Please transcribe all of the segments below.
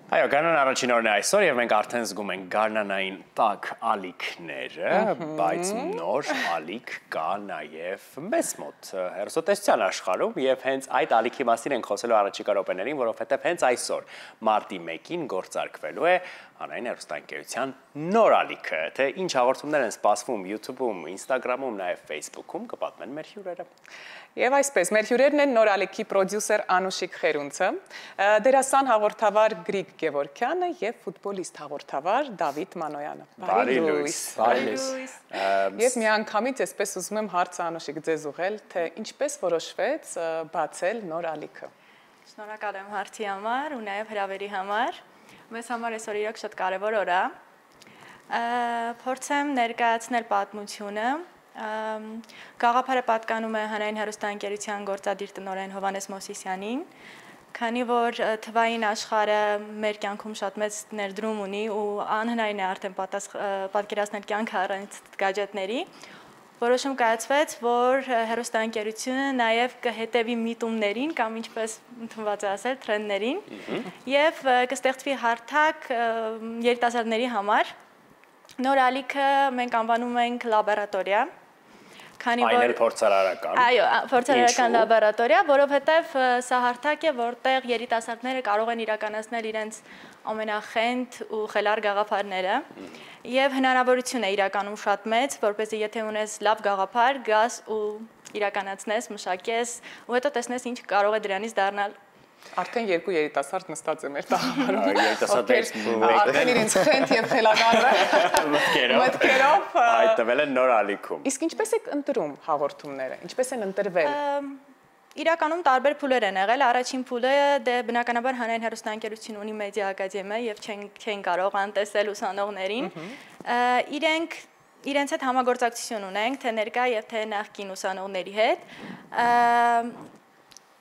Այո, գարնան առաջին օրն է այսօր և մենք արդեն զգում ենք գարնանային տաք ալիքները, բայց նոր ալիք կա նաև մեզ մոտ հեռուստատեսության աշխարհում և հենց այդ ալիքի մասին ենք խոսելու առաջիկա րոպեներին, որովհետև հենց այսօր մարտի 1-ին գործարկվելու է հանրային հեռուստաընկերության նոր ալիքը, թե ինչ հաղորդումներ են սպասվում YouTube-ում, Instagram-ում, նաև Facebook-ում, կպատմեն մեր հյուրերը։ Եվ այսպես, մեր հյուրերն են նոր ալիքի պրոդյուսեր Անուշիկ Խերունցը, դերասան հաղորդավար Գրիգ Գևորգյանը և ֆուտբոլիստ հաղորդավար Դավիթ Մանոյանը։ Բարի լույս։ Եվ միանգամից այսպես ուզում եմ հարցը Անուշիկ ձեզ ուղղել, թե ինչպես որոշվեց բացել նոր ալիքը։ Շնորհակալ եմ հարցի համար ու նաև հրավերի համար։ Մեզ համար այսօր իրոք շատ կարևոր օր է։ Փորձեմ ներկայացնել պատմությունը։ Գաղափարը պատկանում է հանրային հեռուստաընկերության գործադիր տնօրեն Հովհաննես Մովսիսյանին, քանի որ թվային աշխարհը մեր կյանքում շատ մեծ ներդրում ունի ու անհնարին է արդեն պատկերացնել կյանքը առանց գadgetների, որոշում կայացվեց, որ հեռուստաընկերությունը նաև կհետևի միտումներին կամ ինչպես ընդունված է ասել, թրենդներին եւ կստեղծվի հարթակ երիտասարդների համար։ Նոր ալիքը մենք անվանում ենք լաբորատորիա, Այն էլ փորձարարական։ Այո, փորձարարական լաբորատորիա, որովհետև սա հարթակ է, որտեղ երիտասարդները կարող են իրականացնել իրենց ամենախենթ ու խելառ գաղափարները եւ հնարավորություն է իրականում շատ մեծ, որպեսզի եթե ունես լավ գաղափար, գաս ու իրականացնես, մշակես ու հետո տեսնես ինչ կարող է դրանից դառնալ։ Արդեն երկու երիտասարդ նստած է մեր տաղավարում, արդեն իրենց խենթ և խելագարը մտքերով հայտնվել են նոր ալիքում։ Իսկ ինչպես եք ընտրում հաղորդումները, ինչպես են ընտրվել։ Իրականում տարբեր փուլեր են եղել, առաջին փուլը բնականաբար հանրային հեռուստաընկերություն ունի մեդիա ակադեմիա եւ չեն կարող անտեսել ուսանողներին, իրենց հետ համագործակցություն ունենք, թե ներկա եւ թե նախկին ուսանողների հետ։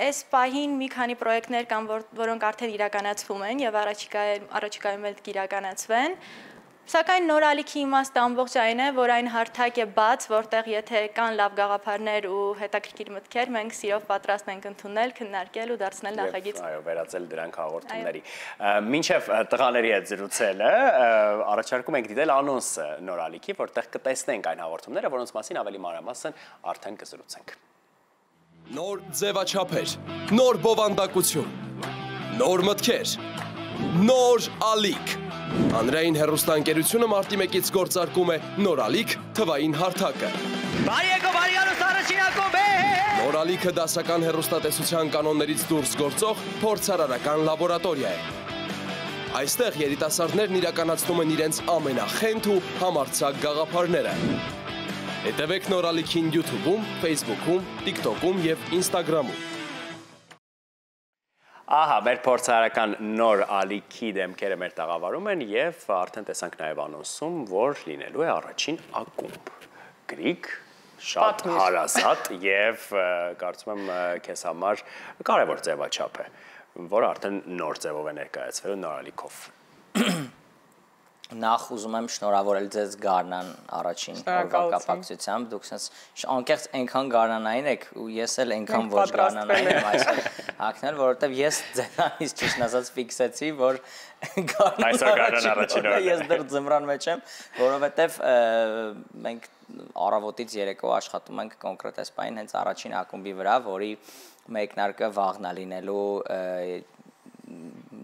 Այս պահին մի քանի պրոյեկտներ կան, որոնք արդեն իրականացվում են եւ առաջիկայում էլ կիրականացվեն։ Սակայն նոր ալիքի իմաստը ամբողջ այն է, որ այն հարթակ է բաց, որտեղ եթե կան լավ գաղափարներ ու հետաքրքիր մտքեր, մենք սիրով պատրաստ ենք ընդունել, քննարկել ու դարձնել նախագիծ։ Այո, վերածել դրանք հաղորդումների։ Մինչև տղաների հետ զրուցելը, առաջարկում ենք դիտել անոնսը նոր ալիքի, որտեղ կտեսնենք այն հաղորդումները, որոնց մասին ավելի մանրամասն արդեն կզրուցենք։ Նոր ձևաչափեր, նոր բովանդակություն, նոր մտքեր, նոր ալիք։ Հանրային հեռուստաընկերությունը մարտի 1-ից գործարկում է նոր ալիք թվային հարթակը։ Նոր ալիքը դասական հեռուստատեսության կանոններից դուրս գործող փորձարարական լաբորատորիա է։ Այստեղ երիտասարդներն իրականացնում են իրենց ամենախենթ ու համարձակ գաղափարները։ Հետևեք նոր ալիքին YouTube-ում, Facebook-ում, TikTok-ում և Instagram-ում։ Ահա, մեր փորձարարական նոր ալիքի դեմքերը մեր տաղավարում են և արդեն տեսանք նաև անոնսում, որ լինելու է առաջին ակումբ։ Գրիգ, շատ հարազատ և կարծում եմ քեզ համար կարևոր ձևաչափ է, որ արդեն նոր ձևով է ներկայացվելու նոր ալիքով։ Նախ ուզում եմ շնորհավորել ձեզ Գարնան առաջին օրվա կապակցությամբ, դուք անկեղծ այնքան գարնանային եք ու ես էլ այնքան ոչ գարնանային եմ այսօր հագնել, որովհետև ես ձեզանից ճիշտ ասած ֆիքսեցի, որ Գարնան առաջին օրն ես դեռ ձմռան մեջ եմ, որովհետև մենք առավոտից երեկո աշխատում ենք կոնկրետ այս պահին հենց առաջին ակումբի վրա, որի մեկնարկը վաղն է լինելու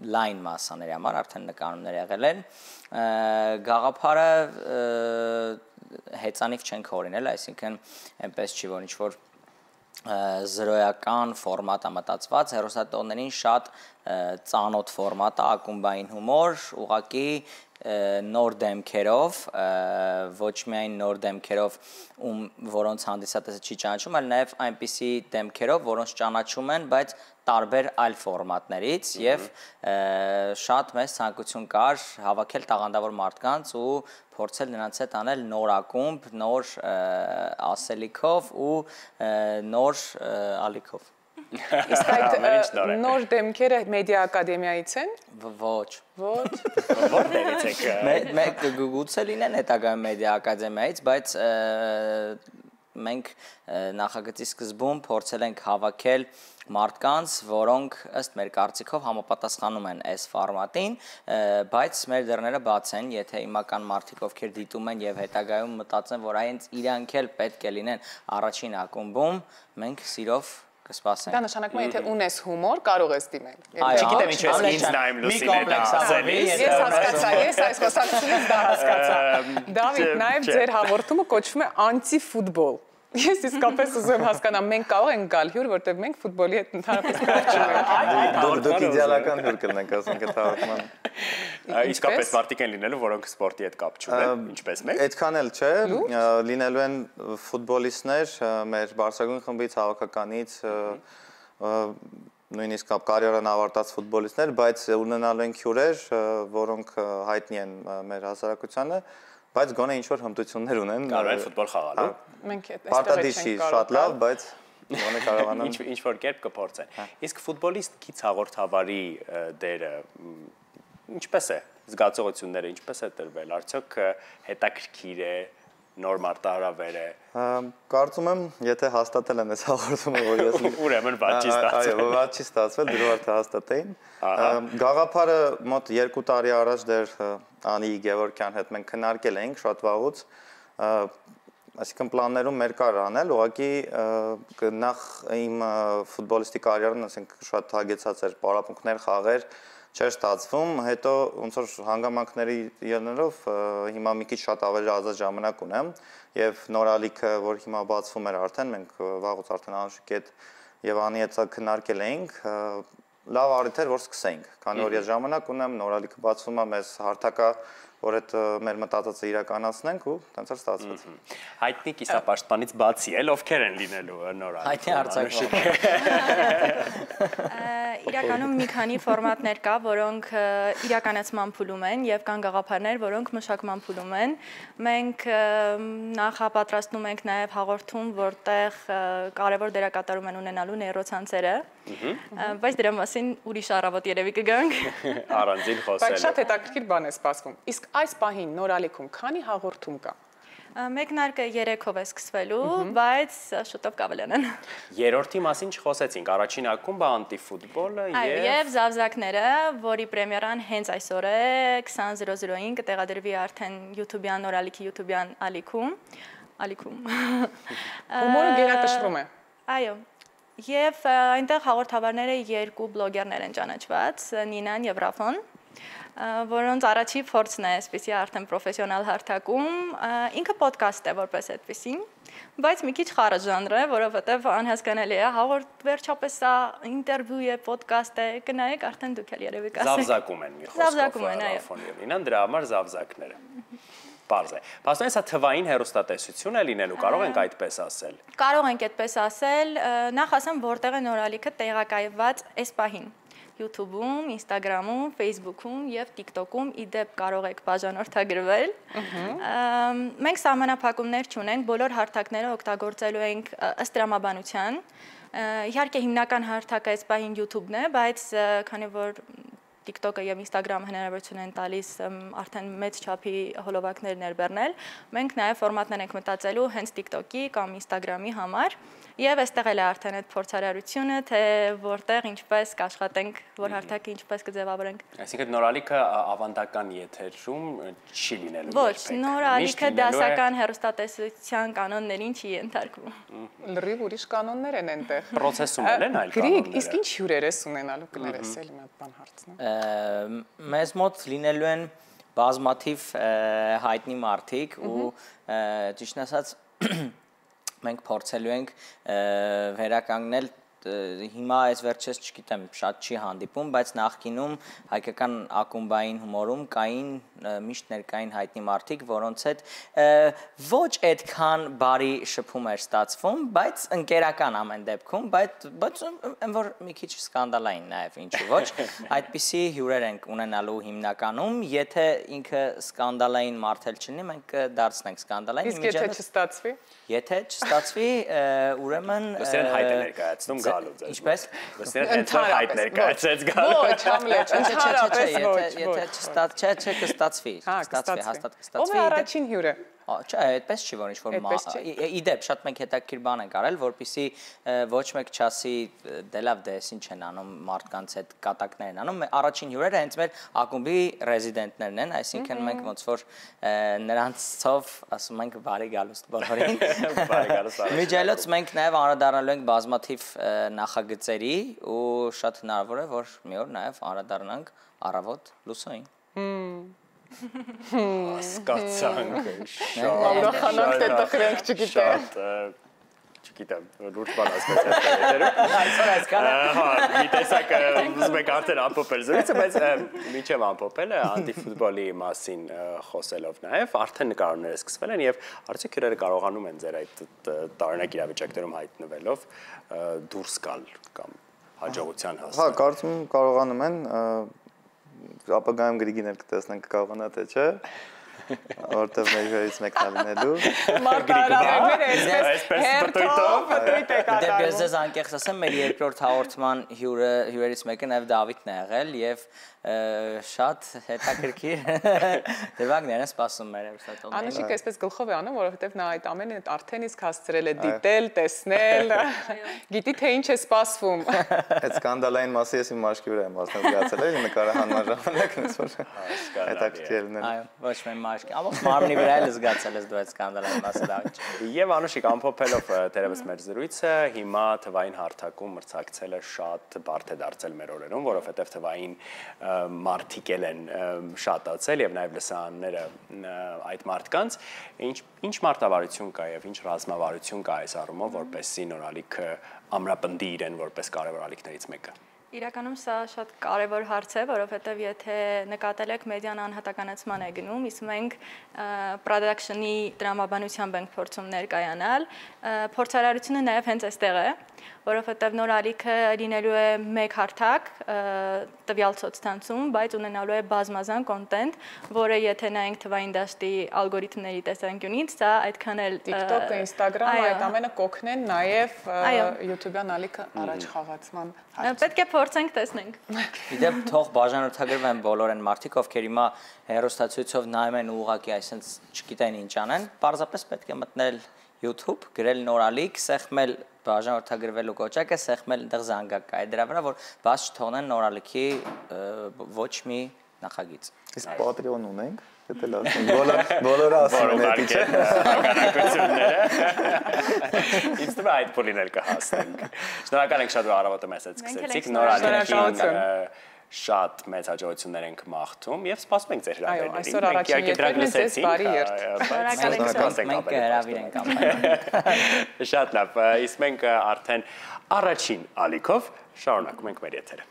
լայն մասաների համար արդեն նկարումներ եղել են, գաղափարը հեծանիվ չենք հորինել, այսինքն այնպես չի, որ ինչ-որ զրոյական ֆորմատ է մտածված, հեռուստատողներին շատ ծանոթ ֆորմատ է, ակումբային հումոր, ուղղակի նոր դեմքերով, ոչ միայն նոր դեմքերով, որոնց հանդիսատեսը չի ճանաչում, այլ նաև այնպիսի դեմքերով, որոնց ճանաչում են, բայց տարբեր այլ ֆորմատներից և շատ մեծ ցանկություն կար հավաքել տաղանդավոր մարդկանց ու փորձել նրանց հետ անել նոր ակումբ, նոր ասելիքով ու նոր ալիքով։ Իսկ այդ նոր դեմքերը մեդիա ակադեմիայից են։ Ոչ։ Որտեղից եք։ Գուցե լինեն հետագայում մեդիա ակադեմիայից, բայց մենք նախագծի սկզբում փորձել ենք հավաքել մարդկանց, որոնք ըստ մեր կարծիքով համապատասխանում են այս ֆորմատին, բայց մեր դռները բաց են, եթե հիմական մարդիկ ովքեր դիտում են եւ հետագայում մտածեն, որ այնց իրանք էլ պետք է լինեն առաջին ակումբում, մենք սիրով կսպասենք։ Դա նշանակում է, եթե ունես հումոր, կարող ես դիմել։ Չգիտեմ ինչ ես ինձ նայում Լուսինեն ասելիս։ Ես հասկացա, ես այս խոսակցությունից դա հասկացա։ Դավիթ, նաև ձեր հաղորդումը կոչվում է անտի-ֆուտբոլ։ Ես իսկապես ուզում եմ հասկանալ, մենք կարող ենք գալ հյուր, որտեղ մենք ֆուտբոլի հետ ընդհանրապես կապ չունենք։ Դուք իդեալական հյուր կլինեք, ասենք այդ հաղորդման։ Իսկապես մարդիկ են լինելու, որոնք սպորտի հետ կապ չունեն, ինչպես մենք։ Այդքան էլ չէ, լինելու են ֆուտբոլիստներ մեր բարձրագույն խմբից, հավաքականից, նույնիսկ կարիերան ավարտած ֆուտբոլիստներ, բայց ունենալու են հյուրեր, որոնք հայտնի են մեր հասարակությանը, բայց գոնե ինչ-որ հմտություններ ունեն։ Կարող են ֆուտբոլ խաղալու։ Մենք այդպես Պարտադիր շատ լավ, բայց գոնե կարողանան ինչ-որ կերպ կփորձեն։ Իսկ ֆուտբոլիստից հաղորդավարի դերը ինչպես է, զգացողությունները ինչպես է տրվել, արդյոք հետաքրքիր է, նոր մարտահրավեր է։ Կարծում եմ, եթե հաստատել են այս հաղորդումը, որ ես ուրեմն բաց չի ստացվել։ Այո, բաց չի ստացվել, դժվար թե հաստատեին։ Գաղափարը մոտ 2 տարի առաջ դեռ Անի Գևորգյան հետ մենք քննարկել էինք շատ վաղուց, այսինքն պլաններում մեր կար անել, ուղղակի նախ իմ ֆուտբոլիստի կարիերան, ասենք շատ հագեցած էր, պարապմունքներ, խաղեր չէր ստացվում, հետո ոնց որ հանգամանքների ելնելով հիմա մի քիչ շատ ավելի ազատ ժամանակ ունեմ եւ նորալիքը, որ հիմա բացվում էր արդեն, մենք վաղուց արդեն Անուշիկ հետ եւ Անի հետ քննարկել էինք, լավ առիթ էր, որ սկսեինք, քանի որ ես ժամանակ ունեմ, նորալիքը բացվում է, մեզ հարթակա որ այդ մեր մտածածը իրականացնենք ու տենց էր ստացված։ Հայտնի կիսապաշտպանից բացի էլ ովքեր են լինելու նորալ։ Հայտնի արձակվող։ Իրականում մի քանի ֆորմատներ կա, որոնք իրականացման փուլում են եւ կան գաղափարներ, որոնք մշակման փուլում են։ Մենք նախապատրաստում ենք նաեւ հաղորդում, որտեղ կարևոր դերակատարում են ունենալու նեյրոցանցերը, բայց դրա մասին ուրիշ առավոտ երևի կգանք։ Առանձին խոսել։ Բայց շատ հետաքրքիր բան է սպասվում։ Իսկ այս պահին նորալիքում քանի հաղորդում կա։ Մեկնարկը 3-ով է սկսվելու, բայց շուտով կավելանան։ Երրորդի մասին չխոսեցինք, առաջին ակումբը անտի-ֆուտբոլը եւ Զավզակները, որի պրեմիերան հենց այսօր է 20:00-ին կտեղադրվի արդեն YouTube-յան նորալիքի YouTube-յան ալիքում։ Հումորը գերակշռում է։ Այո։ Եվ այնտեղ հաղորդավարները 2 բլոգերներ են ճանաչված, Նինան եւ Ռաֆոն, որոնց առաջի փորձն է այսպեսի արդեն պրոֆեսիոնալ հարթակում, ինքը ոդկաստ է որպես այդպեսին, բայց մի քիչ խառը ժանր է, որովհետև անհասկանալի է, հաղորդ վերջապես սա ինտերվյու է, ոդկաստ է, կնայեք արդեն դուք էլ երևի կասեք։ Զավզակում են մի խոսքով Ռաֆոն եւ Նինան, դրա համար զավզակները։ Պարզ է։ Փաստորեն սա թվային հեռուստատեսություն է լինելու, կարող ենք այդպես ասել։ Կարող ենք այդպես ասել, նախ ասեմ, որտեղ է նորալիքը տեղակայված այս պահին։ YouTube-ում, Instagram-ում, Facebook-ում եւ TikTok-ում իդեպ կարող եք բաժանորդագրվել։ Մենք սահմանափակումներ չունենք, բոլոր հարթակները օգտագործելու ենք ըստ տրամաբանության։ Իհարկե հիմնական հարթակը այս պահին YouTube-ն է, բայց քանի որ TikTok-ը եւ Instagram-ը հնարավորություն են տալիս արդեն մեծ չափի հոլովակներ ներբեռնել, մենք նաեւ ֆորմատներ ենք մտածելու հենց TikTok-ի կամ Instagram-ի համար եւ այստեղ էլ է արդեն այդ փորձարարությունը, թե որտեղ ինչպես կաշխատենք, որ հարթակը ինչպես կձևավորենք։ Այսինքն նորալիքը ավանդական եթերում չի լինելու։ Ոչ, նորալիքը դասական հեռուստատեսության կանոններին չի ենթարկվում։ Լրիվ ուրիշ կանոններ են այնտեղ։ Պրոցեսում են այլ կանոնները։ Գրիգ, իսկ ինչ հյուրեր ես ունենալու կներես էլի մի հատ բան հարցնեմ։ Մեզ մոտ լինելու են բազմաթիվ հայտնի մարդիկ ու ճիշտ ասած մենք փորձելու ենք վերականգնել հիմա այս վերջերս չգիտեմ շատ չի հանդիպում, բայց նախկինում հայկական ակումբային հումորում կային միշտ ներկային հայտնի մարդիկ, որոնց հետ ոչ այդքան բարի շփում էր ստացվում, բայց ընկերական ամեն դեպքում, բայց այն որ մի քիչ սկանդալային նաև ինչու ոչ, այդպիսի հյուրեր ենք ունենալու հիմնականում, եթե ինքը սկանդալային մարդ էլ չլինի, մենք դարձնենք սկանդալային։ Իսկ եթե չստացվի։ Եթե չստացվի, ուրեմն Ուսերեն հայտ է ներկայացնում գալու ձեզ։ Ինչպես։ Դեռ հայտ ներկայացրեց գալու։ Ոչ, Համլետ, ընդհանրապես ոչ։ Եթե կստացվի, հաստատ կստացվի։ Ո՞վ է առաջին հյուրը։ Չէ, այդպես չի, որ ինչ-որ իդեպ շատ մենք հետաքրքիր բան ենք արել, որպեսզի ոչ մեկ չասի դե լավ, դե ինչ են անում մարդկանց հետ կատակներ են անում։ Առաջին հյուրերը հենց մեր ակումբի ռեզիդենտներն են, այսինքն մենք ոնց որ նրանցով ասում ենք բարի գալուստ բոլորին։ Բարի գալուստ։ Միջայլոց մենք նաև անդրադառնալու ենք բազմաթիվ նախագծերի ու շատ հնարավոր է, որ մի օր նաև անդրադառնանք առավոտ լուսոյին։ Հասկացանք, Ուրախանանք, թե տխրենք, չգիտեմ։ Չգիտեմ, լուրջ բան ասվեց հետերում։ Այսօր այսքանը։ Հա, մի տեսակ ուզում եք արդեն ամփոփել զրույցը, բայց միջև ամփոփելը անտիֆուտբոլի մասին խոսելով նաև արդեն նկարները սկսվել են եւ արդյոք հյուրերը կարողանում են ձեր այդ տարօրինակ իրավիճակներում հայտնվելով դուրս գալ կամ հաջողության հասնել։ Հա, կարծում եմ կարողանում են ապագայում գրիգիներ կտեսնենք կարողանա թե չէ, որտեղ մեր հյուրերից մեկն լինելու։ Մարտահրավերները այսպես հերթով պտույտ է կատարվում։ Դե ես ձեզ անկեղծ ասեմ, մեր երկրորդ հաղորդման հյուրերից մեկը նաև Դավիթն է եղել եւ շատ հետաքրքիր դեպքեր են սպասում մեր հերթատոմներին։ Անուշիկը այսպես գլխով է անում, որովհետև նա այդ ամենը արդեն իսկ հասցրել է դիտել, տեսնել, գիտի թե ինչ է սպասվում։ Այդ սկանդալային մասի ես իմ մաշկի վրա եմ մասնակցել եմ, նկարահանման ժամանակ ինձ որ հետաքրքիր լինել։ Այո, ոչ միայն մաշկի, ամբողջ մարմնի վրա էլ զգացել ես դու այդ սկանդալային մասը Դավիթ։ Եվ Անուշիկ ամփոփելով դերևս մեր զրույցը, հիմա թվային հարթակում մրցակցելը շատ բարդ է դարձել մեր օրերում, որովհետև թվային մարդիկ են շատացել եւ նաեւ լսարանները այդ մարդկանց ինչ մարտավարություն կա եւ ինչ ռազմավարություն կա այս առումով որպեսզի նորալիքը ամրապնդի իրեն որպես կարևոր ալիքներից մեկը։ Իրականում սա շատ կարևոր հարց է, որովհետև եթե նկատել եք մեդիան անհատականացման է գնում, իսկ մենք production-ի դրամաբանությամբ ենք փորձում ներկայանալ, փորձարարությունը նաև հենց այստեղ է, որովհետև նոր ալիքը լինելու է մեկ հարթակ տվյալ սոցցանցում, բայց ունենալու է բազմազան կոնտենտ, որը եթե նայենք թվային դաշտի ալգորիթմների տեսանկյունից, սա այդքան էլ TikTok-ը, Instagram-ը այդ ամենը կօգնեն նաև YouTube-յան ալիքը առաջ խաղացման հարցում։ Պետք է փորձենք տեսնենք։ Իդեպ թող բաժանորդագրվեն բոլոր այն մարդիկ, ովքեր հիմա հեռուստացույցով նայում են ուղղակի այսպես չգիտեն ինչ անեն, պարզապես պետք է մտնել YouTube, գրել նորալիք, սեղմել բաժանորդագրվելու կոճակը, սեղմել այնտեղ զանգակ կա դրա վրա, որ բաց չթողնեն նորալիքի ոչ մի նախագիծ։ Իսկ Patreon ունենք, դա լավ է։ Բոլորը ասում են, չէ՞։ Հականակությունները։ Ինձ թվում է այդ փուլին էլ կհասնենք։ Շնորհակալ ենք շատ որ առավոտը մեզ հետ սկսեցիք, նորալիքին շատ մեծ հաջողություններ ենք մաղթում եւ սպասում ենք ձեր հրավերներին։ Այո, այսօր առաջին եթերն է ձեզ բարի երթ։ Մենք հրավիրենք ամեն։ Շատ լավ, իսկ մենք արդեն առաջին ալիքով շարունակում ենք մեր եթերը։